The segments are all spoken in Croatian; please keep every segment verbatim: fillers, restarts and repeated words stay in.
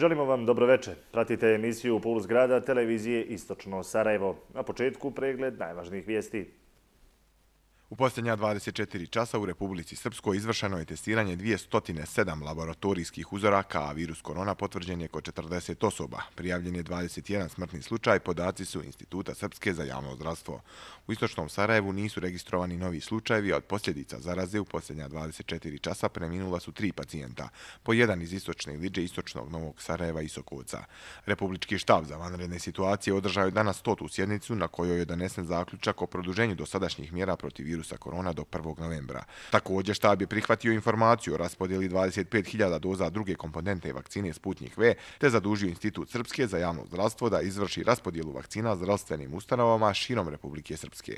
Želimo vam dobroveče. Pratite emisiju Puls grada televizije Istočno Sarajevo. Na početku pregled najvažnijih vijesti. U posljednja dvadeset četiri časa u Republici Srpskoj izvršeno je testiranje dvjesto sedam laboratorijskih uzoraka, a virus korona potvrđen je kod četrdeset osoba. Prijavljen je dvadeset jedan smrtni slučaj, podaci su Instituta Srpske za javno zdravstvo. U Istočnom Sarajevu nisu registrovani novi slučajevi, a od posljedica zaraze u posljednja dvadeset četiri časa preminula su tri pacijenta, po jedan iz Istočne Liđe, Istočnog Novog Sarajeva i Sokovca. Republički štab za vanredne situacije održao je danas stotu sjednicu na kojoj je donesen zaključak o produženju dosadašnjih mjera protiv virusa sa korona do prvog novembra. Također štab je prihvatio informaciju o raspodjeli dvadeset pet hiljada doza druge komponente vakcine Sputnik V, te zadužio Institut Srpske za javno zdravstvo da izvrši raspodjelu vakcina zdravstvenim ustanovama širom Republike Srpske.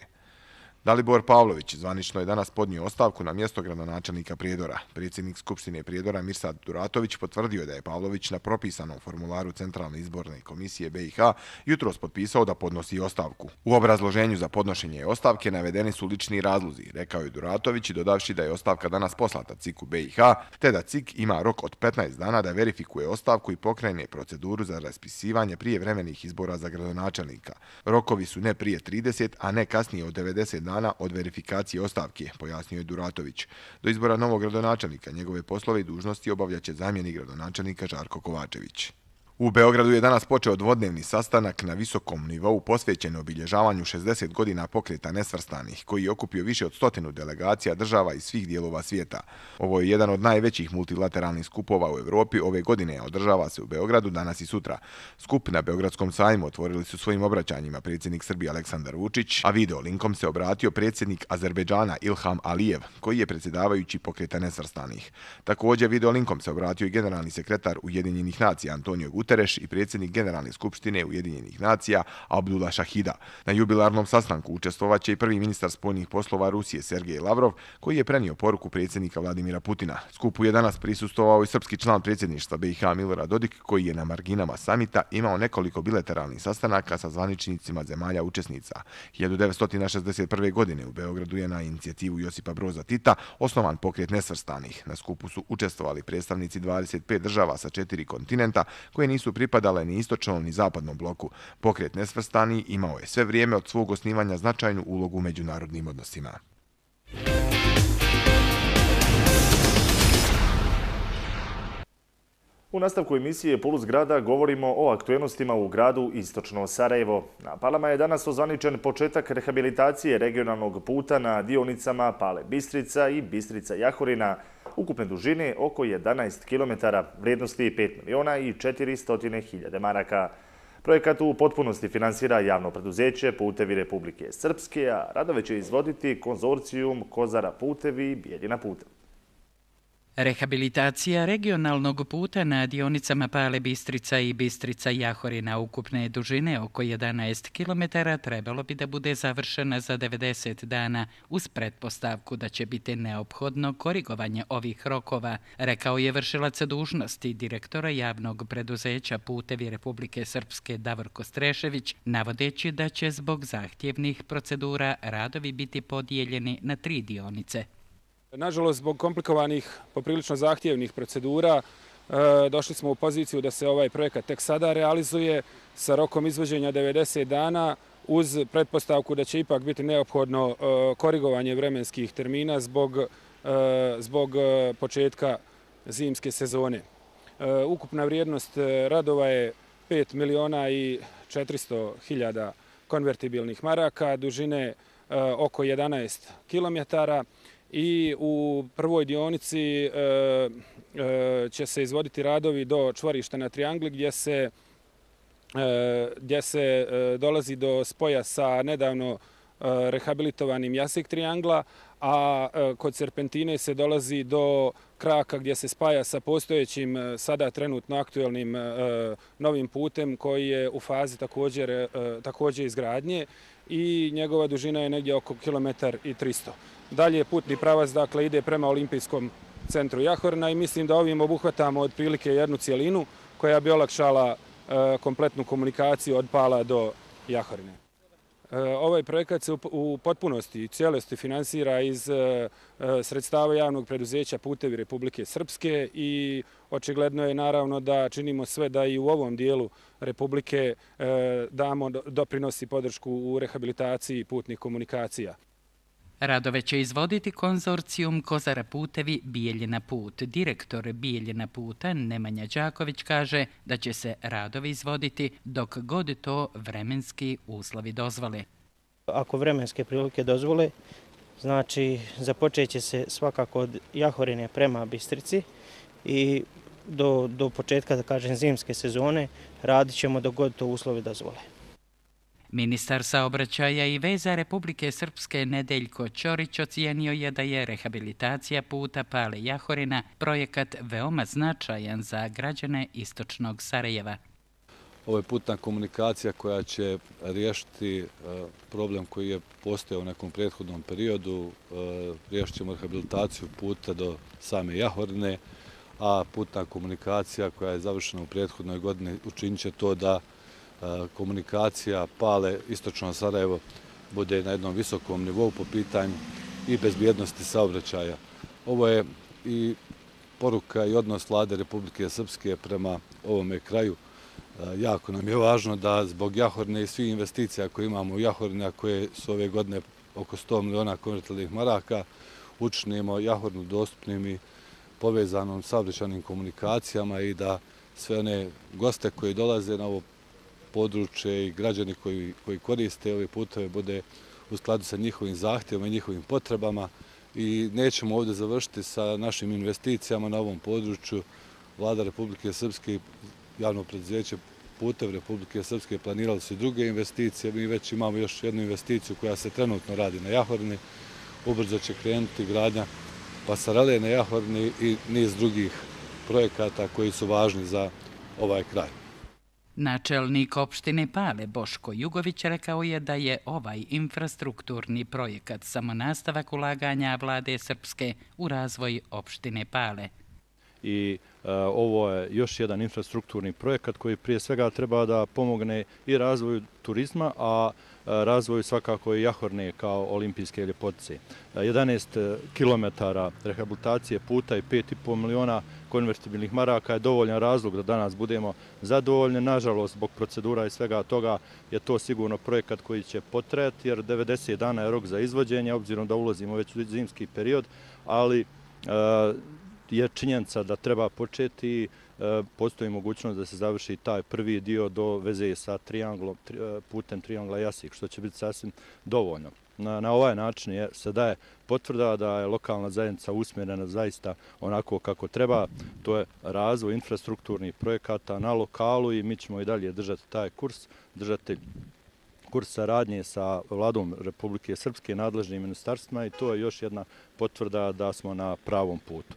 Dalibor Pavlović zvanično je danas podnio ostavku na mjesto gradonačelnika Prijedora. Predsjednik Skupštine Prijedora Mirsad Duratović potvrdio da je Pavlović na propisanom formularu Centralne izborne komisije B i H jutros potpisao da podnosi ostavku. U obrazloženju za podnošenje ostavke navedeni su lični razlozi, rekao je Duratović, dodavši da je ostavka danas poslata C I K-u B i H, te da C I K ima rok od petnaest dana da verifikuje ostavku i pokrene proceduru za raspisivanje prijevremenih izbora za gradonačelnika. Rokovi su ne prije trideset, a ne kasnije od devedeset dana od verifikacije ostavke, pojasnio je Duratović. Do izbora novog gradonačelnika njegove poslove i dužnosti obavljaće zamjenik gradonačelnika Žarko Kovačević. U Beogradu je danas počeo dvodnevni sastanak na visokom nivou posvećen obilježavanju šezdeset godina pokreta nesvrstanih, koji je okupio više od stotinu delegacija država iz svih dijelova svijeta. Ovo je jedan od najvećih multilateralnih skupova u Evropi. Ove godine održava se u Beogradu danas i sutra. Skup na Beogradskom sajmu otvorili su svojim obraćanjima predsjednik Srbije Aleksandar Vučić, a video linkom se obratio predsjednik Azerbejdžana Ilham Alijev, koji je predsjedavajući pokreta nesvrstanih. Također video linkom se obratio i generalni sekretar Ujedinjenih nacija Antonio Guterres i predsjednik Generalne skupštine Ujedinjenih nacija Abdullah Šahida. Na jubilarnom sastanku učestvovaće i prvi ministar spoljnih poslova Rusije Sergej Lavrov, koji je prenio poruku predsjednika Vladimira Putina. Skupu je danas prisustvovao i srpski član predsjedništva B i H Milorad Dodik, koji je na marginama samita imao nekoliko bilateralnih sastanaka sa zvaničnicima zemalja učesnica. hiljadu devetsto šezdeset prve. godine u Beogradu je na inicijativu Josipa Broza Tita osnovan pokret nesvrstanih. Na skupu su učestvovali predstavnici dvadeset pet država sa četiri kontinenta, koje nisu pripadale ni istočnom ni zapadnom bloku. Pokret nesvrstani imao je sve vrijeme od svog osnivanja značajnu ulogu u međunarodnim odnosima. U nastavku emisije Puls grada govorimo o aktuelnostima u gradu Istočno Sarajevo. Na Palama je danas ozvaničen početak rehabilitacije regionalnog puta na dionicama Pale Bistrica i Bistrica Jahorina, ukupne dužine oko jedanaest kilometara, vrijednosti pet miliona i četiristo hiljada maraka. Projekat u potpunosti finansira javno preduzeće Putevi Republike Srpske, a radove će izvoditi konzorcijum Kozara putevi i Bijeljina puta. Rehabilitacija regionalnog puta na dionicama Pale Bistrica i Bistrica Jahorina ukupne dužine oko jedanaest kilometara trebalo bi da bude završena za devedeset dana uz pretpostavku da će biti neophodno korigovanje ovih rokova, rekao je vršilac dužnosti direktora javnog preduzeća Putevi Republike Srpske Davorko Strešević, navodeći da će zbog zahtjevnih procedura radovi biti podijeljeni na tri dionice. Nažalost, zbog komplikovanih, poprilično zahtjevnih procedura, došli smo u poziciju da se ovaj projekat tek sada realizuje sa rokom izvođenja devedeset dana uz pretpostavku da će ipak biti neophodno korigovanje vremenskih termina zbog, zbog početka zimske sezone. Ukupna vrijednost radova je pet miliona i četiristo hiljada konvertibilnih maraka, dužine oko jedanaest kilometara. I u prvoj dionici e, e, će se izvoditi radovi do čvorišta na Triangli gdje se, e, gdje se e, dolazi do spoja sa nedavno e, rehabilitovanim Jasik Triangla, a e, kod Serpentine se dolazi do kraka gdje se spaja sa postojećim, sada trenutno aktuelnim e, novim putem koji je u fazi također, e, također izgradnje i njegova dužina je negdje oko kilometar i tristo. Dalje putni pravac dakle, ide prema Olimpijskom centru Jahorina i mislim da ovim obuhvatamo otprilike jednu cijelinu koja bi olakšala e, kompletnu komunikaciju od Pala do Jahorine. Ovaj projekat se u potpunosti i cijelosti finansira iz sredstava javnog preduzeća Putevi Republike Srpske i očigledno je naravno da činimo sve da i u ovom dijelu Republike damo doprinos i podršku u rehabilitaciji putnih komunikacija. Radove će izvoditi konzorcijum Kozara putevi Bijeljina put. Direktor Bijeljina puta Nemanja Đaković kaže da će se radovi izvoditi dok god to vremenski uslovi dozvole. Ako vremenske prilike dozvole, znači započet će se svakako od Jahorine prema Bistrici i do, do početka, da kažem, zimske sezone radit ćemo dok god to uslovi dozvole. Ministar saobraćaja i veza Republike Srpske Nedeljko Ćorić ocijenio je da je rehabilitacija puta Pale Jahorina projekat veoma značajan za građane istočnog Sarajeva. Ovo je putna komunikacija koja će riješiti problem koji je postojao u nekom prethodnom periodu. Riješit ćemo rehabilitaciju puta do same Jahorine, a putna komunikacija koja je završena u prethodnoj godini učinit će to da komunikacija Pale istočno Sarajevo bude na jednom visokom nivou po pitanju i bezbjednosti saobraćaja. Ovo je i poruka i odnos Vlade Republike Srpske prema ovome kraju. Jako nam je važno da zbog Jahorine i svih investicija koje imamo u Jahorine, a koje su ove godine oko sto miliona konvertibilnih maraka, učinimo Jahorinu dostupnim i povezanom saobraćajnim komunikacijama i da sve one goste koji dolaze na ovo područje i građani koji, koji koriste ove puteve bude u skladu sa njihovim zahtjevima i njihovim potrebama. I nećemo ovdje završiti sa našim investicijama na ovom području. Vlada Republike Srpske i javno preduzeće Putev Republike Srpske planirali su i druge investicije. Mi već imamo još jednu investiciju koja se trenutno radi na Jahorini. Ubrzo će krenuti gradnja pasarele na Jahorini i niz drugih projekata koji su važni za ovaj kraj. Načelnik opštine Pale Boško Jugović rekao je da je ovaj infrastrukturni projekat samo nastavak ulaganja Vlade Srpske u razvoj opštine Pale. I e, ovo je još jedan infrastrukturni projekat koji prije svega treba da pomogne i razvoju turizma, a razvoju svakako i Jahorine kao olimpijske ljepotice. jedanaest kilometara rehabilitacije puta i pet i po miliona konvertibilnih maraka je dovoljan razlog da danas budemo zadovoljni. Nažalost, zbog procedura i svega toga je to sigurno projekat koji će potrajati, jer devedeset dana je rok za izvođenje, obzirom da ulazimo već u zimski period, ali e, je činjenica da treba početi i postoji mogućnost da se završi taj prvi dio do veze sa trianglom, putem triangla Jasik, što će biti sasvim dovoljno. Na, na ovaj način je, se daje potvrda da je lokalna zajednica usmjerena zaista onako kako treba. To je razvoj infrastrukturnih projekata na lokalu i mi ćemo i dalje držati taj kurs, držati kurs saradnje sa Vladom Republike Srpske, nadležnim ministarstvima, i to je još jedna potvrda da smo na pravom putu.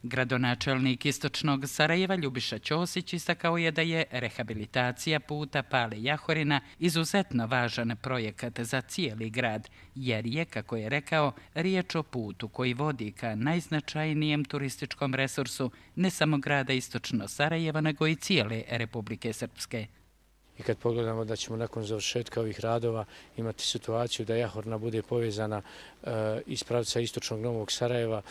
Gradonačelnik istočnog Sarajeva Ljubiša Ćosić istakao je da je rehabilitacija puta Pale Jahorina izuzetno važan projekat za cijeli grad, jer je, kako je rekao, riječ o putu koji vodi ka najznačajnijem turističkom resursu ne samo grada istočno Sarajeva, nego i cijele Republike Srpske. I kad pogledamo da ćemo nakon završetka ovih radova imati situaciju da Jahorina bude povezana iz pravca istočnog Novog Sarajeva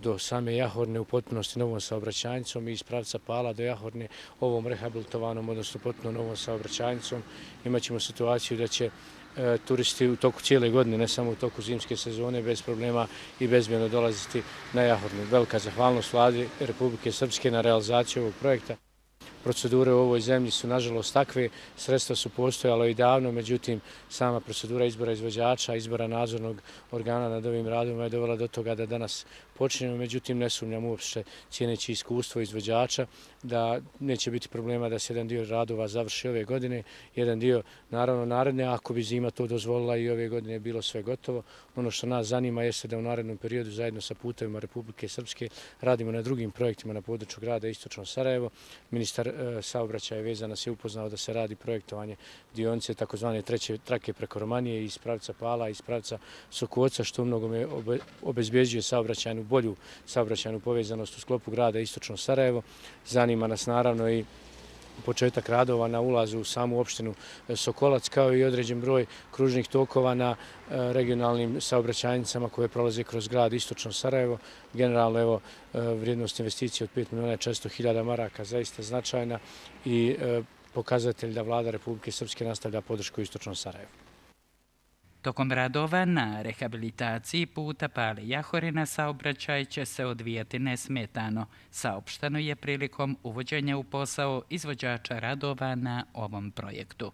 do same Jahorine u potpunosti novom saobraćajnicom i iz pravca Pala do Jahorine ovom rehabilitovanom, odnosno potpuno novom saobraćajnicom, imat ćemo situaciju da će turisti u toku cijele godine, ne samo u toku zimske sezone, bez problema i bezbjedno dolaziti na Jahorinu. Velika zahvalnost Vladi Republike Srpske na realizaciju ovog projekta. Procedure u ovoj zemlji su nažalost takve, sredstva su postojala i davno, međutim sama procedura izbora izvođača, izbora nadzornog organa nad ovim radovima je dovela do toga da danas počinjemo, međutim ne sumnjam uopšte, cijeneći iskustvo izvođača, da neće biti problema da se jedan dio radova završi ove godine, jedan dio naravno naredne, ako bi zima to dozvolila i ove godine je bilo sve gotovo. Ono što nas zanima jeste da u narednom periodu zajedno sa Putevima Republike Srpske radimo na drugim projektima na području grada Istočno Sarajevo. Ministar saobraćaja vezan nas je upoznao da se radi projektovanje dionice takozvane treće trake preko Romanije iz pravca Pala i iz pravca Sokoca, što u mnogome obezbjeđuje saobraćajnu bolju saobraćajnu povezanost u sklopu grada Istočno Sarajevo. Zanima nas naravno i početak radova na ulazu u samu opštinu Sokolac, kao i određen broj kružnih tokova na regionalnim saobraćajnicama koje prolaze kroz grad Istočno Sarajevo. Generalno, evo, vrijednost investicije od pet miliona četiristo hiljada maraka zaista značajna i pokazatelj da vlada Republike Srpske nastavlja podršku Istočnom Sarajevu. Tokom radova na rehabilitaciji puta Pale-Jahorina saobraćaj će se odvijati nesmetano, saopšteno je prilikom uvođenja u posao izvođača radova na ovom projektu.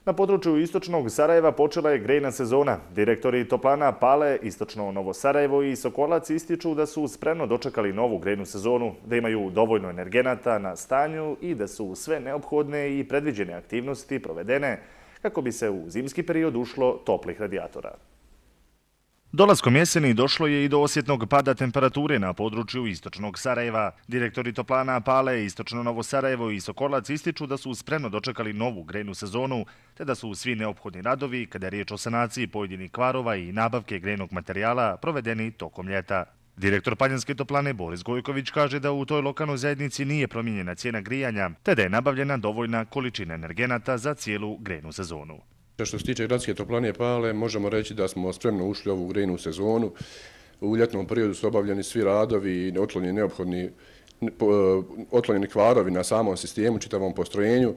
Na području Istočnog Sarajeva počela je grejna sezona. Direktori toplana Pale, Istočno Novo Sarajevo i Sokolac ističu da su spremno dočekali novu grejnu sezonu, da imaju dovoljno energenata na stanju i da su sve neophodne i predviđene aktivnosti provedene kako bi se u zimski period ušlo toplih radijatora. Dolaskom jeseni došlo je i do osjetnog pada temperature na području Istočnog Sarajeva. Direktori toplana Pale, Istočno Novo Sarajevo i Sokolac ističu da su spremno dočekali novu grejnu sezonu, te da su svi neophodni radovi, kada je riječ o sanaciji pojedinih kvarova i nabavke grejnog materijala, provedeni tokom ljeta. Direktor Paljanske toplane Boris Gojković kaže da u toj lokalnoj zajednici nije promijenjena cijena grijanja, te da je nabavljena dovoljna količina energenata za cijelu grejnu sezonu. Što se tiče gradske toplane Pale, možemo reći da smo spremno ušli u ovu grejnu sezonu. U ljetnom periodu su obavljeni svi radovi i otklonjeni neophodni otklonjeni kvarovi na samom sistemu, čitavom postrojenju.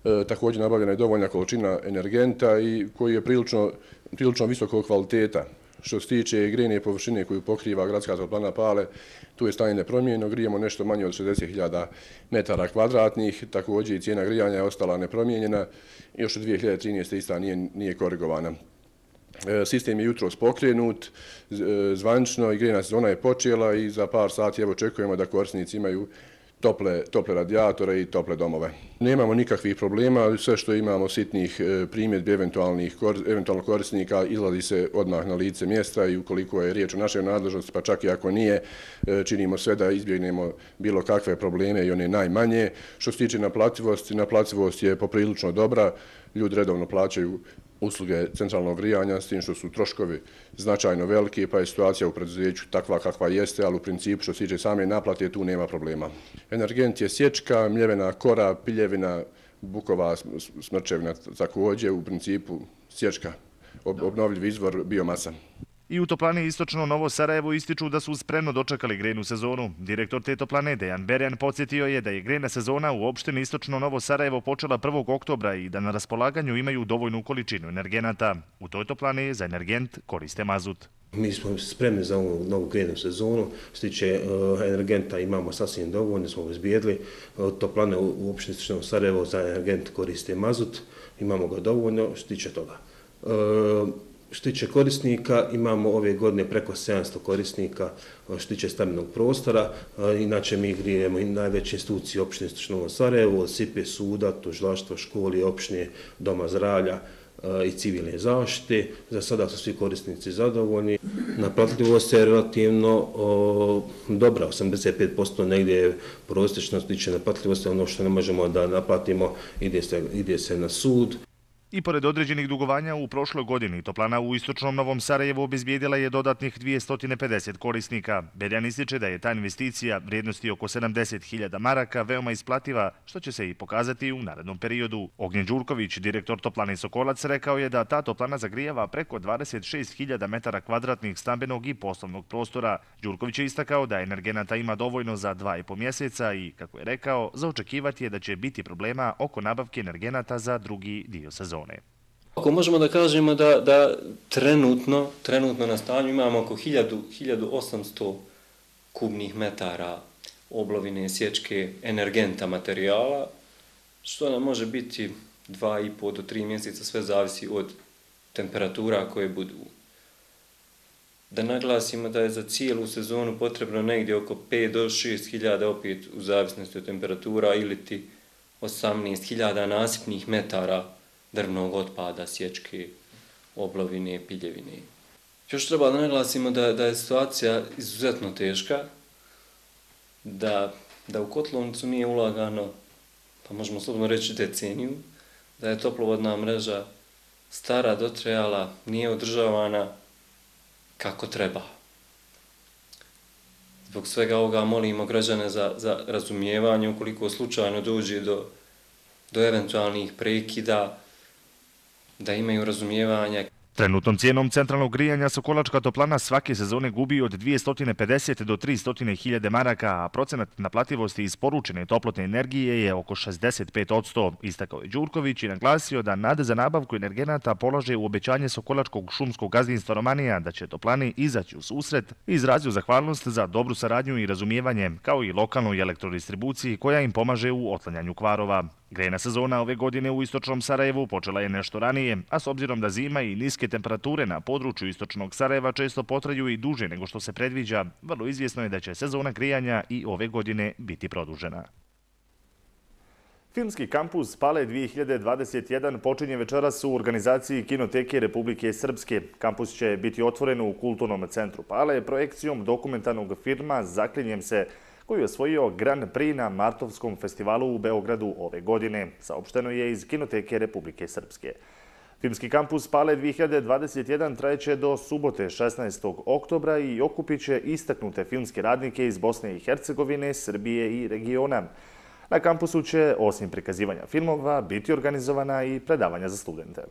E, također nabavljena je dovoljna količina energenta i koji je prilično, prilično visokog kvaliteta. Što se tiče grejne površine koju pokriva gradska toplana Pale, tu je stanje nepromijenjeno, grijemo nešto manje od šezdeset hiljada metara kvadratnih, također i cijena grijanja je ostala nepromijenjena, još od dvije hiljade trinaeste. ista nije, nije korigovana. E, sistem je jutros pokrenut, zvanično i grejna sezona je počela i za par sati evo očekujemo da korisnici imaju Tople, tople radijatore i tople domove. Nemamo nikakvih problema, sve što imamo sitnih primjedbi eventualnih eventualno korisnika izlazi se odmah na lice mjesta i ukoliko je riječ o našoj nadležnosti, pa čak i ako nije, činimo sve da izbjegnemo bilo kakve probleme i one najmanje. Što se tiče naplativosti, naplativost je poprilično dobra, ljudi redovno plaćaju usluge centralnog grijanja, s tim što su troškovi značajno veliki, pa je situacija u preduzeću takva kakva jeste, ali u principu što se tiče same naplate tu nema problema. Energent je sječka, mljevena kora, piljevina, bukova smrčevina također, u principu sječka, obnovljiv izvor biomasa. I u toplani Istočno Novo Sarajevo ističu da su spremno dočekali grejnu sezonu. Direktor te toplane Dejan Berjan podsjetio je da je grejna sezona u opštini Istočno Novo Sarajevo počela prvog oktobra i da na raspolaganju imaju dovoljnu količinu energenata. U toj toplani za energent koriste mazut. Mi smo spremni za ovu novu grejnu sezonu. Što se tiče energenta imamo sasvim dovoljno, smo obezbijedili. Toplane u opštini Istočno Novo Sarajevo za energent koriste mazut, imamo ga dovoljno što se tiče toga. Što tiče korisnika, imamo ove godine preko sedamsto korisnika što tiče stambenog prostora. Inače, mi grijemo i najveće institucije opštine Istočno Novo Sarajevo, od S I P E, suda, tužilaštva, škole, opštine, doma zdravlja i civilne zaštite. Za sada su svi korisnici zadovoljni. Naplatljivost je relativno o, dobra, osamdeset pet posto negdje je prosječno što tiče naplatljivosti, ono što ne možemo da naplatimo ide se, ide se na sud. I pored određenih dugovanja u prošloj godini, toplana u Istočnom Novom Sarajevu obezbijedila je dodatnih dvjesto pedeset korisnika. Berjan ističe da je ta investicija vrijednosti oko sedamdeset hiljada maraka veoma isplativa, što će se i pokazati u narednom periodu. Ognjen Đurković, direktor toplane Sokolac, rekao je da ta toplana zagrijava preko dvadeset šest hiljada metara kvadratnih stambenog i poslovnog prostora. Đurković je istakao da energenata ima dovoljno za dva i po mjeseca i, kako je rekao, za očekivati je da će biti problema oko nabavke energenata za drugi dio sezone. Ako možemo da kažemo da, da trenutno, trenutno na stanju imamo oko hiljadu osamsto kubnih metara oblovine, sječke, energenta materijala, što nam može biti dva i po do tri mjeseca, sve zavisi od temperatura koje budu. Da naglasimo da je za cijelu sezonu potrebno negdje oko pet do šest hiljada, opet u zavisnosti od temperatura, ili ti osamnaest hiljada nasipnih metara drvnog otpada, sječke, oblovine, piljevine. Još treba da naglasimo da, da je situacija izuzetno teška, da, da u kotlovnicu nije ulagano, pa možemo slobodno reći deceniju, da je toplovodna mreža stara, dotrajala, nije održavana kako treba. Zbog svega ovoga molimo građane za, za razumijevanje ukoliko slučajno dođe do, do eventualnih prekida, da imaju razumijevanja. Trenutnom cijenom centralnog grijanja Sokolačka toplana svake sezone gubi od dvjesto pedeset do tristo hiljada maraka, a procenat naplativosti isporučene toplotne energije je oko šezdeset pet posto. Istakao je Đurković i naglasio da nade za nabavku energenata polaže u obećanje Sokolačkog šumskog gazdinstva Romanija da će toplani izaći u susret i izrazio zahvalnost za dobru saradnju i razumijevanje, kao i lokalnoj elektrodistribuciji koja im pomaže u otklanjanju kvarova. Grejna sezona ove godine u istočnom Sarajevu počela je nešto ranije, a s obzirom da zima i niske temperature na području istočnog Sarajeva često potraju i duže nego što se predviđa, vrlo izvjesno je da će sezona grijanja i ove godine biti produžena. Filmski kampus Pale dvije hiljade dvadeset jedan počinje večeras u organizaciji Kinoteke Republike Srpske. Kampus će biti otvoren u Kulturnom centru Pale projekcijom dokumentarnog filma Zaklinjem se, koji je osvojio Grand Prix na Martovskom festivalu u Beogradu ove godine, saopšteno je iz Kinoteke Republike Srpske. Filmski kampus Pale dvije hiljade dvadeset jedan trajeće do subote šesnaestog oktobra i okupit će istaknute filmske radnike iz Bosne i Hercegovine, Srbije i regiona. Na kampusu će, osim prikazivanja filmova, biti organizovana i predavanja za studente.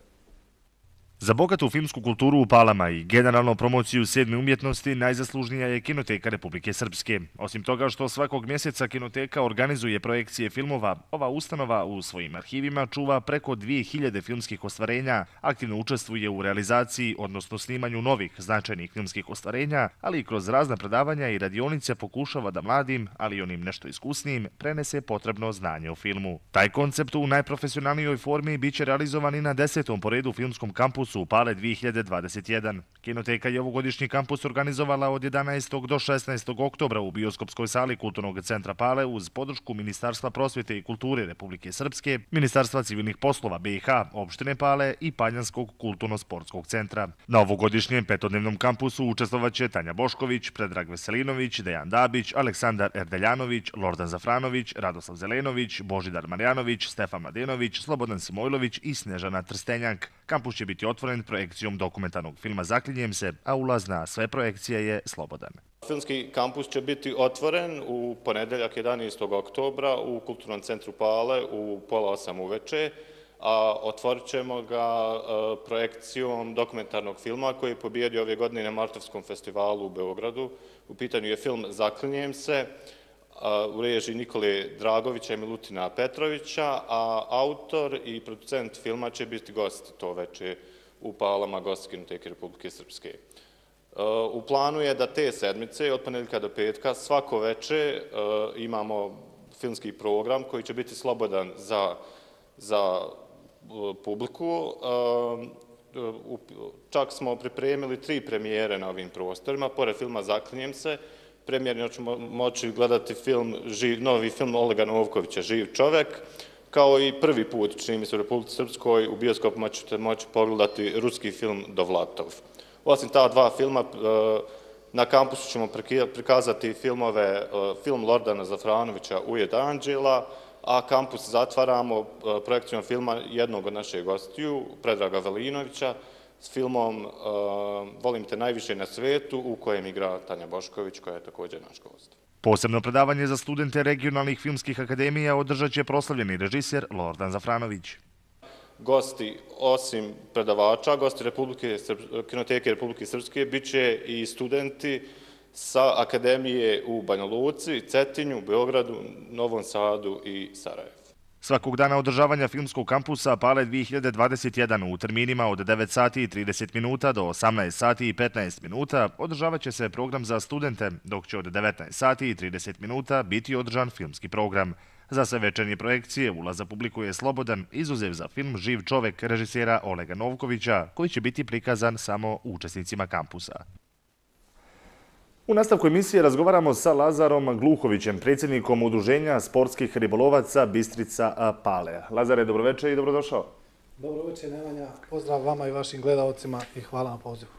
Za bogatu filmsku kulturu u Palama i generalno promociju sedme umjetnosti najzaslužnija je Kinoteka Republike Srpske. Osim toga što svakog mjeseca Kinoteka organizuje projekcije filmova, ova ustanova u svojim arhivima čuva preko dvije hiljade filmskih ostvarenja, aktivno učestvuje u realizaciji, odnosno snimanju novih značajnih filmskih ostvarenja, ali i kroz razna predavanja i radionice pokušava da mladim, ali i onim nešto iskusnijim, prenese potrebno znanje o filmu. Taj koncept u najprofesionalnijoj formi biće realizovan i na desetom po redu filmskom kampusu u Pale dvije hiljade dvadeset jedan. Kinoteka je ovogodišnji kampus organizovala od jedanaestog do šesnaestog oktobra u bioskopskoj sali Kulturnog centra Pale uz podršku Ministarstva prosvjete i kulture Republike Srpske, Ministarstva civilnih poslova B i H, opštine Pale i Paljanskog kulturno-sportskog centra. Na ovogodišnjem petodnevnom kampusu učestvovaće Tanja Bošković, Predrag Veselinović, Dejan Dabić, Aleksandar Erdeljanović, Lordan Zafranović, Radoslav Zelenović, Božidar Marjanović, Stefan Mladenović, Slobodan Simojlović i Snežana Trstenjak. Kampus će biti otvoren projekcijom dokumentarnog filma Zaklinjem se, a ulaz na sve projekcije je slobodan. Filmski kampus će biti otvoren u ponedeljak jedanaestog oktobra u Kulturnom centru Pale u pola osam uveče, a otvorit ćemo ga projekcijom dokumentarnog filma koji je pobijedio ove godine na Martovskom festivalu u Beogradu. U pitanju je film Zaklinjem se, u režiji Nikole Dragovića i Milutina Petrovića, a autor i producent filma će biti gost to veče u Palama, gost Kinoteke Republike Srpske. U planu je da te sedmice, od ponedjeljka do petka, svako veče imamo filmski program koji će biti slobodan za, za publiku. Čak smo pripremili tri premijere na ovim prostorima, pored filma Zaklinjem se. Premijerno ćemo moći gledati film, novi film Olega Novkovića, Živ čovek, kao i prvi put, čini mi se u Republici Srpskoj, u bioskopima ćete moći pogledati ruski film Dovlatov. Osim ta dva filma, na kampusu ćemo prikazati filmove, film Lordana Zafranovića Ujed anđela, a kampus zatvaramo projekcijom filma jednog od naših gostiju, Predraga Velinovića, s filmom Volim te najviše na svetu, u kojem igra Tanja Bošković, koja je također naš gost. Posebno predavanje za studente regionalnih filmskih akademija održat će proslavljeni režiser Lordan Zafranović. Gosti, osim predavača, gosti Kinoteke Republike Srpske, bit će i studenti sa akademije u Banja Luci, Cetinju, Beogradu, Novom Sadu i Sarajevu. Svakog dana održavanja filmskog kampusa Pale dvije hiljade dvadeset jedan u terminima od devet sati i trideset minuta do osamnaest sati i petnaest minuta održavat će se program za studente, dok će od devetnaest sati i trideset minuta biti održan filmski program. Za sve večernje projekcije ulaz za publiku je slobodan, izuzev za film Živ čovek režisera Olega Novkovića, koji će biti prikazan samo učesnicima kampusa. U nastavku emisije razgovaramo sa Lazarom Gluhovićem, predsjednikom Udruženja sportskih ribolovaca Bistrica Pale. Lazare, dobroveče i dobrodošao. Dobroveče, Nemanja. Pozdrav vama i vašim gledalcima i hvala na pozivu.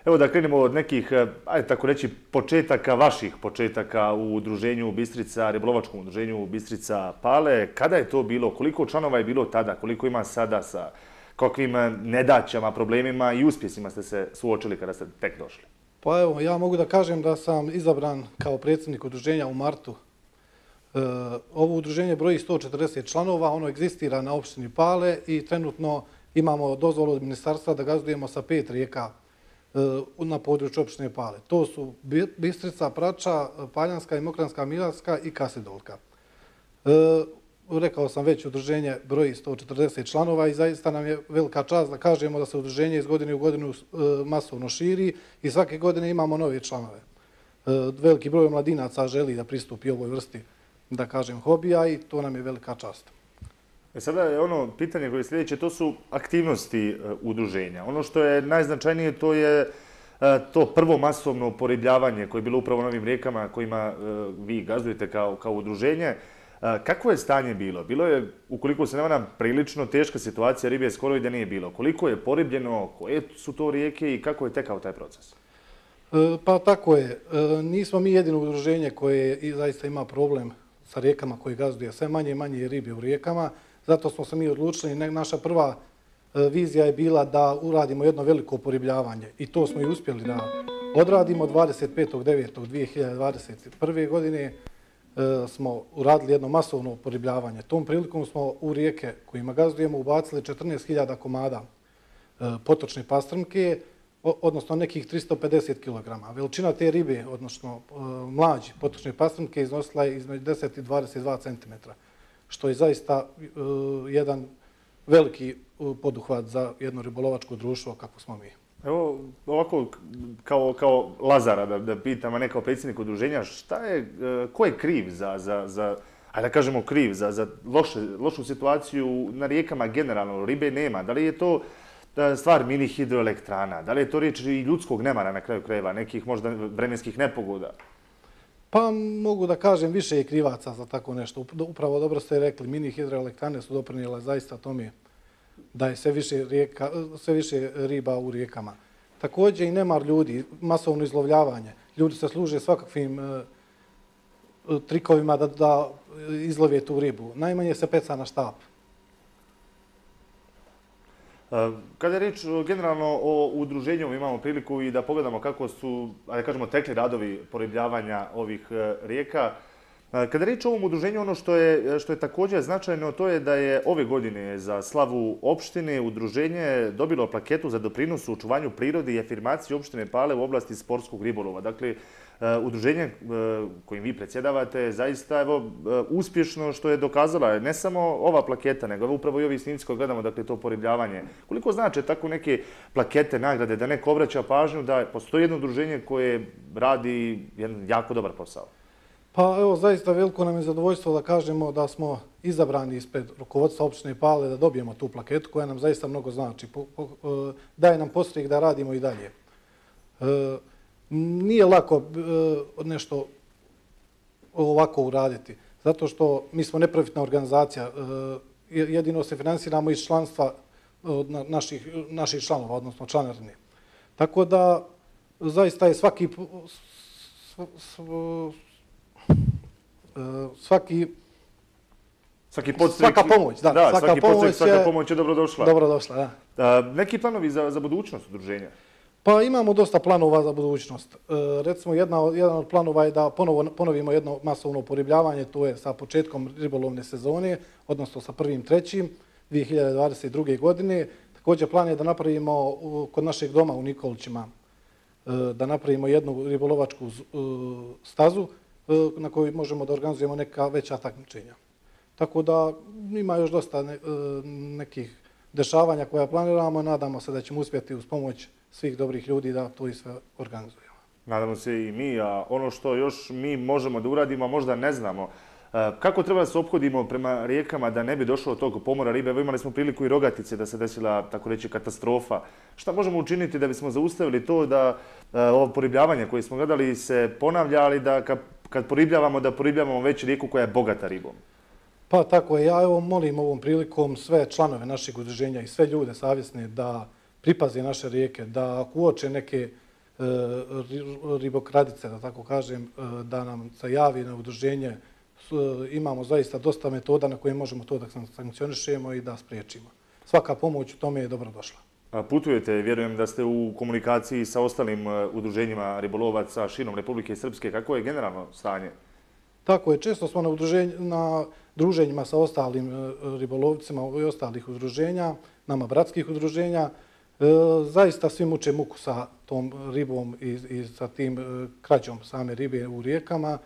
Evo da krenemo od nekih, ajde tako reći, početaka, vaših početaka u Udruženju Bistrica, ribolovačkom Udruženju Bistrica Pale. Kada je to bilo? Koliko članova je bilo tada? Koliko ima sada? Sa kakvim nedaćama, problemima i uspjesima ste se suočili kada ste tek došli? Pa evo, ja mogu da kažem da sam izabran kao predsjednik udruženja u martu. Ovo udruženje broji sto četrdeset članova, ono egzistira na opštini Pale i trenutno imamo dozvolu od ministarstva da gazdujemo sa pet rijeka na području opštine Pale. To su Bistrica, Prača, Paljanska i Mokranska Milarska i Kasidolka. Rekao sam već, udruženje broji sto četrdeset članova i zaista nam je velika čast da kažemo da se udruženje iz godine u godinu masovno širi i svake godine imamo nove članove. Veliki broj mladinaca želi da pristupi ovoj vrsti, da kažem, hobija i to nam je velika čast. E sada je ono pitanje koje je sljedeće, to su aktivnosti udruženja. Ono što je najznačajnije to je to prvo masovno poribljavanje koje je bilo upravo na ovim rijekama kojima vi gazdujete kao, kao udruženje. Kako je stanje bilo? Bilo je, ukoliko se ne varam, prilično teška situacija, ribe skoro i da nije bilo. Koliko je poribljeno, koje su to rijeke i kako je tekao taj proces? Pa tako je. Nismo mi jedino udruženje koje zaista ima problem sa rijekama koje gazduje. Sve manje i manje ribe u rijekama. Zato smo se mi odlučili. Naša prva vizija je bila da uradimo jedno veliko poribljavanje. I to smo i uspjeli da odradimo. dvadeset petog devetog dvije hiljade dvadeset prve. godine smo uradili jedno masovno poribljavanje. Tom prilikom smo u rijeke kojima gazdujemo ubacili četrnaest hiljada komada potočne pastrmke, odnosno nekih tristo pedeset kilograma. Veličina te ribe, odnosno mlađe potočne pastrmke, iznosila je između deset i dvadeset dva centimetra, što je zaista jedan veliki poduhvat za jedno ribolovačko društvo kako smo mi. Evo, ovako, kao, kao Lazara da, da pitam, a ne kao predsjednik udruženja, šta je, ko je kriv za, za, za ajde da kažemo kriv, za, za loše, lošu situaciju na rijekama generalno, ribe nema? Da li je to stvar mini hidroelektrana? Da li je to riječ i ljudskog nemara na kraju krajeva, nekih možda vremenskih nepogoda? Pa mogu da kažem više je krivaca za tako nešto. Upravo dobro ste rekli, mini hidroelektrane su doprinijele zaista tome da je sve više, rijeka, sve više riba u rijekama. Također i nemar ljudi, masovno izlovljavanje. Ljudi se služe svakakvim e, trikovima da, da izlove tu ribu. Najmanje se peca na štap. Kada je riječ generalno o udruženju, imamo priliku i da pogledamo kako su, da kažemo, tekli radovi poribljavanja ovih rijeka. Kada je riječ o ovom udruženju, ono što je, što je također značajno, to je da je ove godine za slavu opštine udruženje dobilo plaketu za doprinos u očuvanju prirode i afirmaciji opštine Pale u oblasti sportskog ribolova. Dakle, udruženje kojim vi predsjedavate zaista evo, uspješno što je dokazala ne samo ova plaketa, nego upravo i ovi snimci koje gledamo, dakle to poribljavanje. Koliko znači tako neke plakete, nagrade, da neko obraća pažnju da postoji jedno udruženje koje radi jedan jako dobar posao? Pa evo, zaista veliko nam je zadovoljstvo da kažemo da smo izabrani ispred rukovodstva opštine Pale da dobijemo tu plaketu koja nam zaista mnogo znači. Po, po, daje nam podstrek da radimo i dalje. E, nije lako e, nešto ovako uraditi, zato što mi smo neprofitna organizacija. E, jedino se finansiramo iz članstva od naših, naših članova, odnosno članarine. Tako da zaista je svaki... S, s, svaki svaki podstrek, svaka pomoć, da, da svaka svaki pomoć podstrek, svaka je pomoć je dobrodošla. Dobrodošla, da. A, neki planovi za, za budućnost udruženja? Pa imamo dosta planova za budućnost. E, recimo, jedna, jedan od planova je da ponovo, ponovimo jedno masovno poribljavanje, to je sa početkom ribolovne sezone, odnosno sa prvim trećim dvije hiljade dvadeset druge. godine. Također plan je da napravimo u, kod našeg doma u Nikolićima, e, da napravimo jednu ribolovačku e, stazu na kojoj možemo da organizujemo neka veća takmičenja. Tako da ima još dosta ne, nekih dešavanja koja planiramo. Nadamo se da ćemo uspjeti uz pomoć svih dobrih ljudi da to i sve organizujemo. Nadamo se i mi, a ono što još mi možemo da uradimo, možda ne znamo. Kako treba da se ophodimo prema rijekama da ne bi došlo od tog pomora ribe? Evo imali smo priliku i Rogatice da se desila, tako reći, katastrofa. Šta možemo učiniti da bismo zaustavili to da ovo poribljavanje koje smo gledali se ponavlja, ali da kad poribljavamo, da poribljavamo već rijeku koja je bogata ribom? Pa tako je. Ja evo molim ovom prilikom sve članove našeg udruženja i sve ljude savjesne da pripaze naše rijeke, da ako uoče neke e, ribokradice, da tako kažem, e, da nam se javi na udruženje. E, imamo zaista dosta metoda na koje možemo to da sankcionišemo i da spriječimo. Svaka pomoć u tome je dobrodošla. putujete, vjerujem da ste u komunikaciji sa ostalim udruženjima ribolovaca širom Republike Srpske. Kako je generalno stanje? Tako je, često smo na, na druženjima sa ostalim ribolovcima i ostalih udruženja, nama bratskih udruženja. E, zaista svi muče muku sa tom ribom i, i sa tim e, krađom same ribe u rijekama.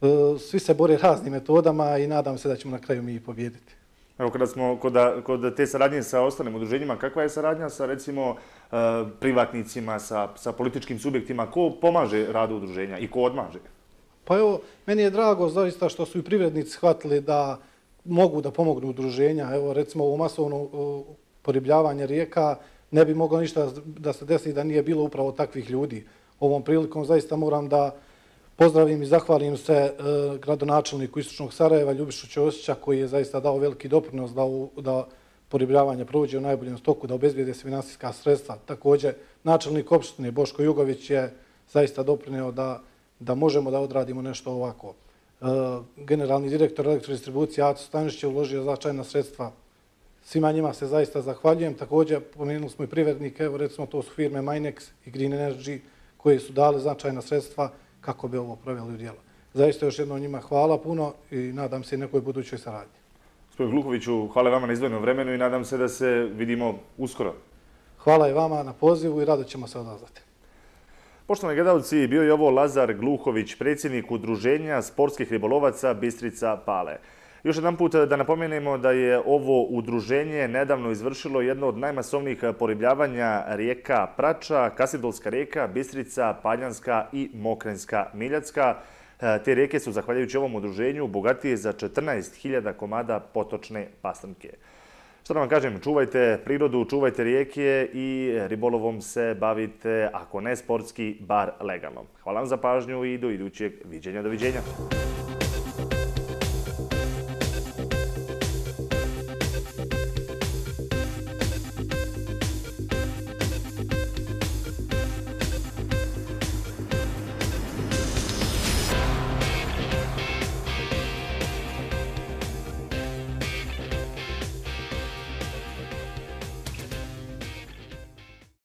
E, svi se bore raznim metodama i nadam se da ćemo na kraju mi i pobijediti. Evo, kada smo kod, kod te saradnje sa ostalim udruženjima, kakva je saradnja sa, recimo, e, privatnicima, sa, sa političkim subjektima? Ko pomaže radu udruženja i ko odmaže? Pa evo, meni je drago zaista što su i privrednici shvatili da mogu da pomognu udruženja. Evo, recimo, ovo masovno poribljavanje rijeka ne bi moglo ništa da se desi da nije bilo upravo takvih ljudi. Ovom prilikom zaista moram da pozdravim i zahvalim se e, gradonačelniku Istočnog Sarajeva, Ljubišu Ćosića, koji je zaista dao veliki doprinos da, u, da poribljavanje prođe u najboljem stoku, da obezbijede se finansijska sredstva. Također, načelnik opštine Boško Jugović je zaista doprineo da, da možemo da odradimo nešto ovako. E, generalni direktor elektrodistribucije Aco Stanišić je uložio značajna sredstva. Svima njima se zaista zahvaljujem. Također, pomenuli smo i privrednike, evo recimo to su firme Minex i Green Energy, koje su dali značajna sredstva kako bi ovo proveli u djelo. Zaista još jednom njima hvala puno i nadam se i nekoj budućoj saradnji. Gospodin Gluhoviću, hvala vama na izdvojenom vremenu i nadam se da se vidimo uskoro. Hvala i vama na pozivu i rado ćemo se odazvati. Poštovani gledalci, bio je ovo Lazar Gluhović, predsjednik Udruženja sportskih ribolovaca Bistrica Pale. Još jedan put da napomenemo da je ovo udruženje nedavno izvršilo jedno od najmasovnijih poribljavanja rijeka Prača, Kasidolska rijeka, Bistrica, Paljanska i Mokrenska Miljacka. Te rijeke su, zahvaljujući ovom udruženju, bogatije za četrnaest hiljada komada potočne pastrnke. Što da vam kažem, čuvajte prirodu, čuvajte rijeke i ribolovom se bavite, ako ne sportski, bar legalno. Hvala vam za pažnju i do idućeg viđenja. Doviđenja.